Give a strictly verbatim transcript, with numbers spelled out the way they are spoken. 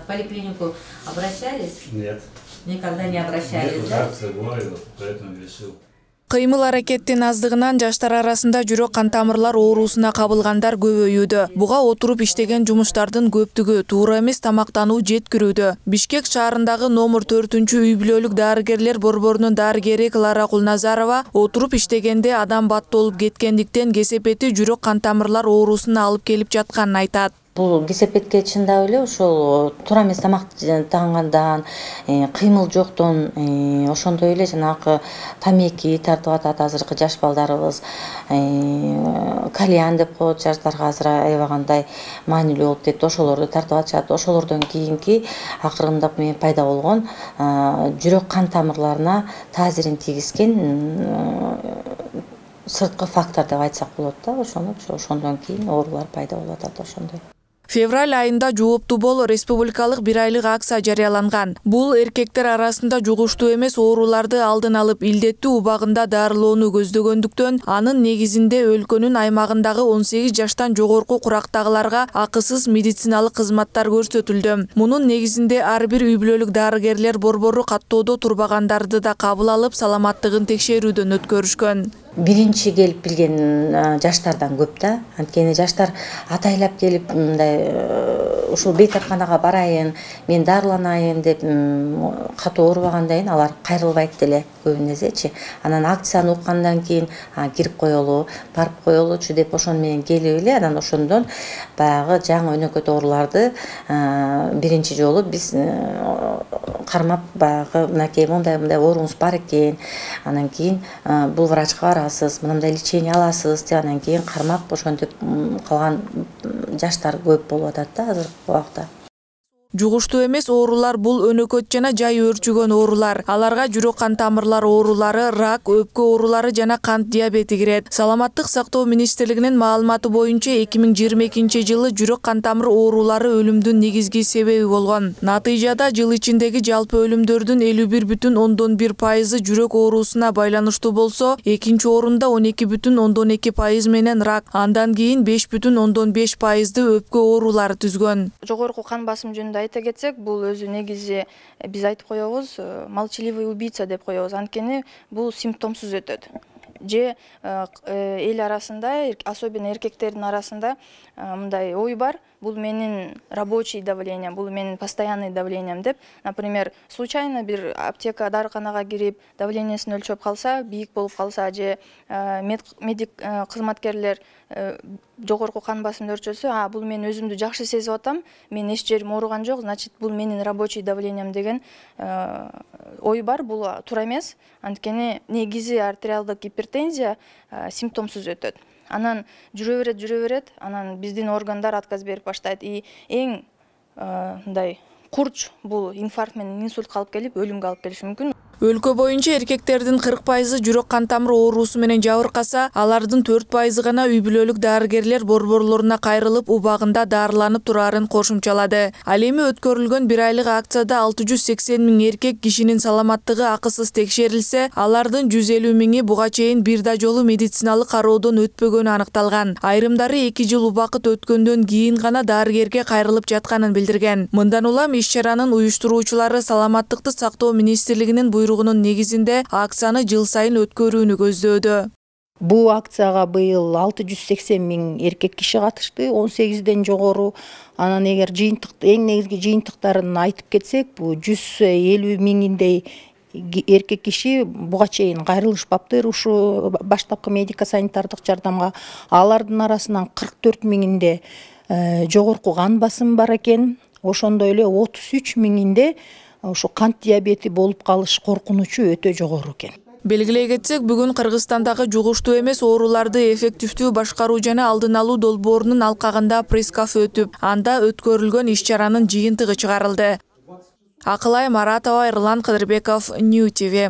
В поликлинику обращались? Нет. Никогда не обращались, Нет, да? акция говорила, поэтому решил. Кыймыл аракеттин аздыгынан жаштар арасында жүрөк кан тамырлар оорусуна кабылгандар көбөйүүдө. Буга отуруп иштеген жумуштардын көптүгү, туура эмес тамактануу жеткирүүдө. Бишкек шаарындагы номер төртүнчү үй бүлөлүк дарыгерлер борборунун дарыгери Клара Кулназарова отуруп иштегенде адам баттолуп кеткендиктен кесепети жүрөк кан тамырлар оорусуна алып келип жатканын айтат. Бул кесепетке чындап эле ошол туура эмес тамак таагандан, кыймыл жоктон, ошондой эле жанагы тамеки тартып атат азыркы жаш балдарыбыз. Кальян деп коет жаштарга азыр аябагандай маанилүү болуп кетти. Ошолорду тартып атышат. Ошолордон кийинки акырында мен пайда болгон жүрөк кан тамырларына таасирин тийгизген сырткы фактор деп айтсак болот да. Ошону ошондон кийин оорулар пайда болуп атат ошондой. Февраль айында жооптуу бол республикалык бир айлык акция жарыяланган. Бул эркектер арасында жугуштуу эмес ооруларды алдын алып илдеттүү убагында дарылоону көздөгөндүктөн, анын негизинде өлкөнүн аймагындагы он сегиз жаштан жогорку курактагыларга акысыз медициналык кызматтар көрсөтүлдү. Мунун негизинде ар бир үй бүлөлүк дарыгерлер борбору каттоодо турбагандарды да кабыл алып, саламаттыгын текшерүүдөн өткөрүшкөн. Биринчи келип билген жаштардан көп да. Анткени жаштар атайлап келип мындай ушул бейтарканага барайын, мен дарыланайын деп катуу оорубагандан кийин алар кайрылбайт деле көбүнесечи. Анан акцияны уккандан кийин кирип коелу, барып коелучу деп ошону менен келип эле анан ошондон баягы жаңы өнөкөт ооруларды биринчи жолу биз кармап баягы мынакей мындай мындай ооруңуз бар экен, анан кийин бул врачка барасыз, мындай лечение аласыз деп анан кийин кармап ошентип калган жаштар көп болуп атат да азыркы убакта. Жугуштуу эмес оорулар бул өнөкөт жана жай өөрчүгөн оорулар. Аларга жүрөк кан тамырлар оорулары, рак, өпкө оорулары жана кант диабети кирет. Саламаттык сактоо министрлигинин маалыматы боюнча эки миң жыйырма экинчи жылы жүрөк кан тамыр оорулары өлүмдүн негизги себеби болгон. Натыйжада жыл ичиндеги жалпы өлүмдөрдүн элүү бир бүтүн ондон бир пайызы жүрөк оорусуна байланыштуу болсо, экинчи орунда он эки бүтүн ондон эки пайыз менен рак, андан кийин беш бүтүн ондон беш пайызды өпкө оорулары түзгөн. Жогорку кан басым жөнүндө айта кетсек, бул өзү негизи биз айтып коебуз, молчаливый убийца деп коебуз. Анткени бул симптомсуз өтөт. Же эл арасында, особенно эркектердин арасында мындай ой бар, бул менин рабочий давлением, бул менин постоянный давлением деп. Например, случайно бир аптека, дарыканага кирип, давлениесин өлчөп калса, бийик болуп калса, же медик кызматкерлер жогорку кан басымды өлчөсө, а бул мен өзүмдү жакшы сезип атам, мен эч жерим ооруган жок, значит, бул менин рабочий давлением деген ой бар, бул туура эмес. Анткени негизи артериалдык гипертензия симптомсуз өтөт. Анан жүрө берет, жүрө берет, анан биздин органдар отказ берип баштайт. И эң мындай курч бул инфаркт менен инсультка алып келип, өлүмгө алып келиши мүмкүн. Өлкө боюнча эркектердин кырк пайызы жүрөк кан тамыр оорусу менен жабыркаса, алардын төрт пайызы гана үй бүлөлүк дарыгерлер борборлоруна кайрылып, убагында дарыланып турарын кошумчалады. Ал эми өткөрүлгөн бир айлык акцияда алты жүз сексен миң эркек кишинин саламаттыгы акысыз текшерилсе, алардын жүз элүү миңи буга чейин бир да жолу медициналык кароодон өтпөгөнү аныкталган. Айрымдары эки жыл убакыт өткөндөн кийин гана дарыгерге кайрылып жатканын билдирген. Мындан улам иш-чаранын уюштуруучулары саламаттыкты сактоо министрлигинин буйругунун негизинде акцияны жыл сайын өткөрүүнү көздөөдө. Бул акцияга быйыл алты жүз сексен миң эркек киши катышты, он сегизден жогору. Анан эгер жыйынтык, эң негизги жыйынтыктарын айтып кетсек, бул жүз элүү миңиндей эркек киши буга чейин кайрылышпаптыр ушу баштапкы медико санитардык жардамга. Алардын арасынан кырк төрт миңинде жогорку кан басым бар экен. Ошондой эле отуз үч миңинде ошо кант диабети болуп калыш коркунучу өтө жогору экен. Белгилей кетсек, бүгүн Кыргызстандагы жугуштуу эмес ооруларды эффективдүү башкаруу жана алдын алуу долбоорунун алкагында пресс-кафе өтүп, анда өткөрүлгөн иш-чаранын жыйынтыгы чыгарылды. Акылай Маратова, Эрлан Кыдырбеков, Нью ти ви.